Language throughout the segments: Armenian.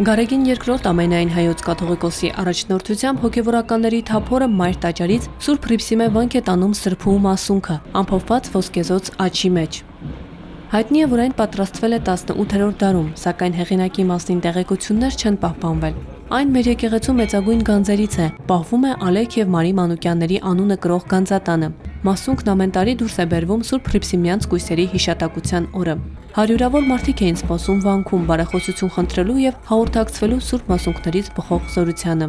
Գարեգին II ամենայն հայոց կաթողիկոսի առաջնորդությամբ հոգևորականների թափորը մայր տաճարից Սուրբ Հռիփսիմե վանք է տանում սրբու մասունքը, ամփոփված ոսկեզոծ աջի մեջ։ Հայտնի է, որ այն պատրաստվել է 18-րդ դարում, սակայն հեղինակի մասին տեղեկություններ չեն պահպանվել։ Այն մեր եկեղեցու մեծագույն գանձերից է, պահվում է Ալեք եւ Մարի Մանուկյանների անունը կրող գանձատանը։ Մասունքն ամեն տարի դուրս է բերվում Սուրբ Հռիփսիմյանց կույսերի հիշատակության օրը։ Հարյուրավոր մարդիկ էին սպասում վանքում բարեխոսություն խնդրելու եւ հաղորդակցվելու Սուրբ Մասունքներից բխող զորությանը։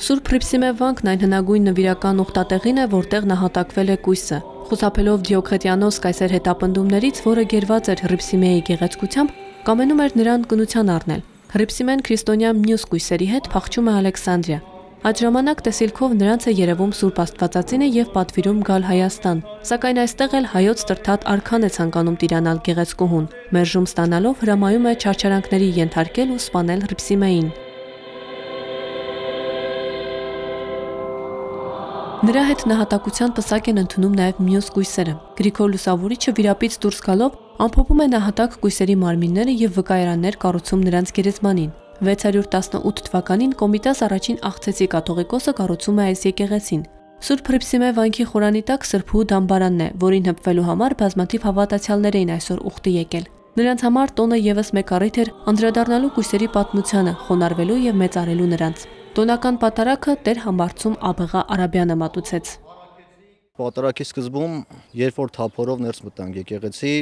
Սուրբ Հռիփսիմե վանքն այն հնագույն նվիրական ուխտատեղին է, որտեղ նահատակվել է կույսը։ Խուսափելով Դիոքլետիանոս կայսեր հետապնդումներից, որը գերված էր Հռիփսիմեի գեղեցկությամբ, կամենում էր նրան կնության առնել։ Հռիփսիմեն քրիստոնյա մյուս կույսերի հետ փախչում է Ալեքսանդրիա։ Այդ ժամանակ տեսիլքով նրանց է երևում Սուրբ Աստվածածինը եւ պատվիրում գալ Հայաստան, սակայն այստեղ էլ հայոց տրթատ արքան է ցանկանում տիրանալ գեղեցկուհուն։ Մերժում ստանալով հրամայում է չարչարանքների ենթարկել ու սպանել Հռիփսիմեին։ Նրա հետ նահատակության պսակ են ընդունում նաև մյուս կույսերը։ Գրիգոր Լուսավորիչը վիրապից դուրս գալով ամփոփում է նահատակ կույսերի մարմինները եւ վկայարաններ կառուցում նրանց գերեզմանին։ 618 թվականին Կոմիտաս առաջին աղցեցի կաթողիկոսը կառուցում է այս եկեղեցին։ Սուրբ Հռիփսիմե վանքի խորանի տակ սրբու դամբարանն է, որին հպվելու համար բազմաթիվ հավատացյալներ էին այսօր ուխտի եկել։ Նրանց համար տոնը եւս մեկ առիթ էր անդրադառնալու կույսերի պատմությանը, խոնարհվելու եւ մեծարելու նրանց։ Տոնական պատարագը Տեր Համբարձում Աբեղա Արաբյանը մատուցեց։ Պատարագի սկզբում, երբ որ թափորով ներս մտանք եկեղեցի,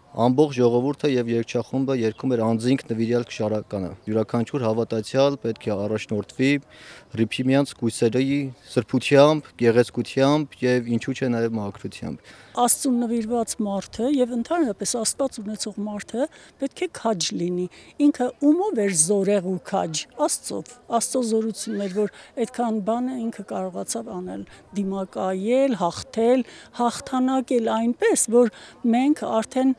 ամբողջ ժողովուրդը եւ երգչախումբը երգում էր անձինք նվիրյալ քշարականը։ Յուրաքանչյուր հավատացյալ պետք է առաջնորդվի Հռիփսիմյանց կույսերի սրբությամբ, գեղեցկությամբ եւ ինչու՞ չէ նաեւ մաքրությամբ։ Աստծուն նվիրված մարդը եւ ընդհանրապես Աստված ունեցող մարդը պետք է քաջ լինի։ Ինքը ումով էր զորեղ ու քաջ, Աստծո զորությունն էր, որ այդքան բանը ինքը կարողացավ անել, դիմակայել, հաղթել, հաղթանակել այնպես, որ մենք արդեն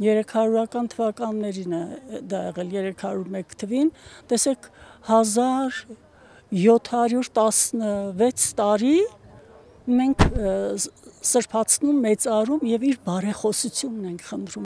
300-ական թվականներին է դա եղել, 301 թվին, տեսեք 1716 տարի մենք սրբացնում, մեծարում եւ իր բարեխոսությունն ենք խնդրում։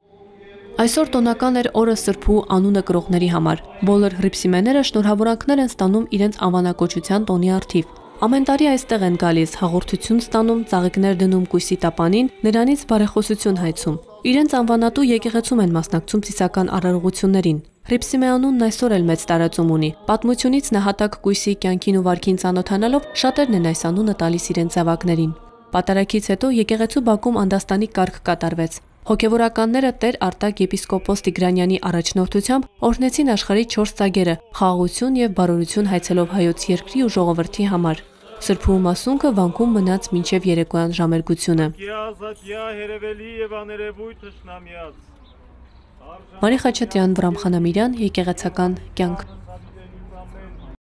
Այսօր տոնական էր օրը սրբու անունը կրողների համար։ Բոլոր հռիփսիմեները շնորհավորանքներ են ստանում իրենց անվանակոչության տոնի առթիվ։ Ամեն տարի այստեղ են գալիս, հաղորդություն ստանում, ծաղիկներ դնում կույսի տապանին, նրանից բարեխոսություն հայցում։ Իրենց անվանատու եկեղեցում են մասնակցում ծիսական արարողություններին։ Հռիփսիմե անունն այսօր էլ մեծ տարածում ունի։ Պատմությունից նահատակ կույսի կյանքին ու վարքին ծանոթանալով շատերն են այս անունը տալիս իրենց զավակներին։ Պատարագից հետո եկեղեցու բակում անդաստանի կարգ կատարվեց։ Հոգևորականները Տեր Արտակ եպիսկոպոս Տիգրանյանի առաջնորդությամբ օրհնեցին աշխարհի 4 ծագերը, խաղաղություն եւ բարօրություն հայցելով հայոց երկրի ու ժողովրդի համար։ Սրբու մասունքը վանքում մնաց մինչև երեկոյան ժամերգությունը։ Մարի Խաչատրյան, Վրամ Խանամիրյան, եկեղեցական կյանք։